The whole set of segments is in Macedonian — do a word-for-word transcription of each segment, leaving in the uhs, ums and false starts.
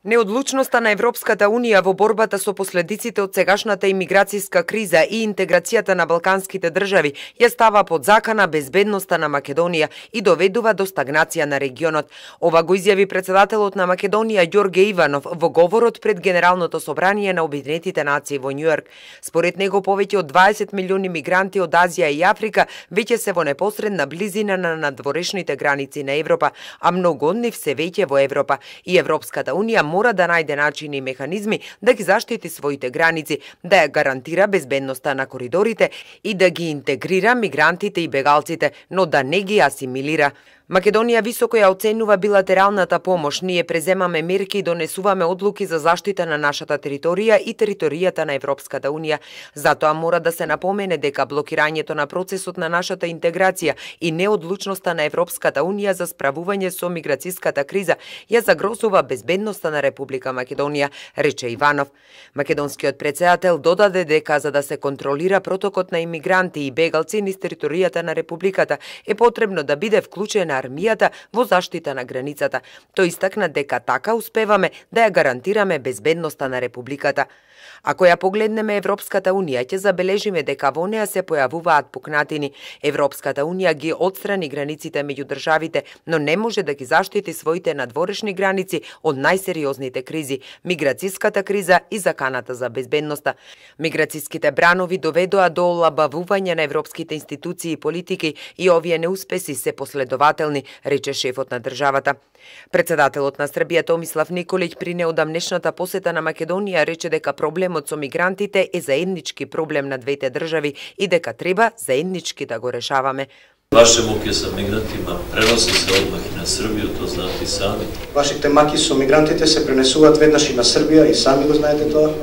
Неодлучноста на Европската Унија во борбата со последиците од сегашната имиграцијска криза и интеграцијата на балканските држави ја става под закана безбедноста на Македонија и доведува до стагнација на регионот. Ова го изјави председателот на Македонија Ѓорге Иванов во говорот пред Генералното собрание на Обединетите нации во Њујорк. Според него повеќе од дваесет милиони мигранти од Азија и Африка веќе се во непосредна близина на надворешните граници на Европа, а многу од нив се веќе во Европа и Европската Унија мора да најде начини и механизми да ги заштити своите граници, да ја гарантира безбедноста на коридорите и да ги интегрира мигрантите и бегалците, но да не ги асимилира. Македонија високо ја оценува билатералната помош. Ние преземаме мерки и донесуваме одлуки за заштита на нашата територија и територијата на Европската Унија. Затоа мора да се напомене дека блокирањето на процесот на нашата интеграција и неодлучноста на Европската Унија за справување со миграцијската криза ја загрозува безбедноста на Република Македонија, рече Иванов. Македонскиот председател додаде дека за да се контролира протокот на имигранти и бегалци низ територијата на Републиката е потребно да биде вклучена армијата во заштита на границата. Тој истакна дека така успеваме да ја гарантираме безбедноста на Републиката. Ако ја погледнеме Европската Унија, ќе забележиме дека во неа се појавуваат пукнатини. Европската Унија ги отстрани границите меѓу државите, но не може да ги заштити своите надворешни граници од најсериозните кризи – миграцијската криза и заканата за безбедноста. Миграцијските бранови доведоа до олабавување на европските институции и политики и овие неуспеси се последователни, рече шефот на државата. Председателот на Србија Томислав Николиќ при неодамнешната посета на Македонија рече дека проблемот со мигрантите е заеднички проблем на двете држави и дека треба заеднички да го решаваме. Ваше муки со мигрантима преноси се одмах и на Србија, тоа знаете и сами. Вашите маки со мигрантите се пренесуваат веднаш и на Србија и сами го знаете тоа.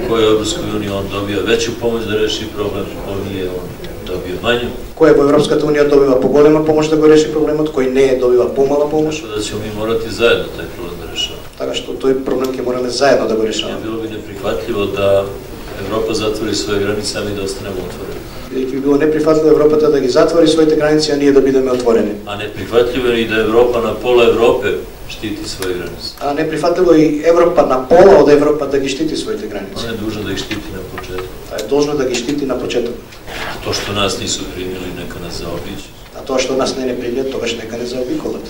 Кој Европска Унија он добија веќу помош да реши проблем, оние он добија мању. Кој во Европската Унија добива поголема помош да го реши проблемот, кој не е добива помала помош. Така да ќе ми морати заедно тај проблем да решаваме. Така што тој проблем ќе мораме заедно да го решаваме. Било би неприфатливо да Европа затвори своји граници, а ми да останеме отворени. Бидејќи би било неприфатливо Европата да ги затвори своите граници, а ние да бидеме отворени. А неприфатливо е и да Европа на пола Европе штити своји граници. А неприфатливо и Европа на пола од Европа да ги штити своите граници. Она е должна да ги штити на почеток. Е должна да ги штити на почеток. А тоа што нас нису примили, нека нас заобиđе. А тоа што нас не не примиат, тогаш нека не заобиколат.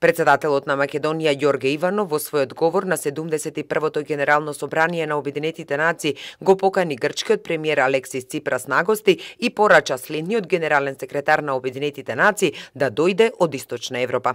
Председателот на Македонија Ѓорге Иванов во својот говор на седумдесет и првото Генерално собрание на Обединетите нации го покани грчкиот премиер Алексис Ципрас на гости и порача следниот генерален секретар на Обединетите нации да дојде од Источна Европа.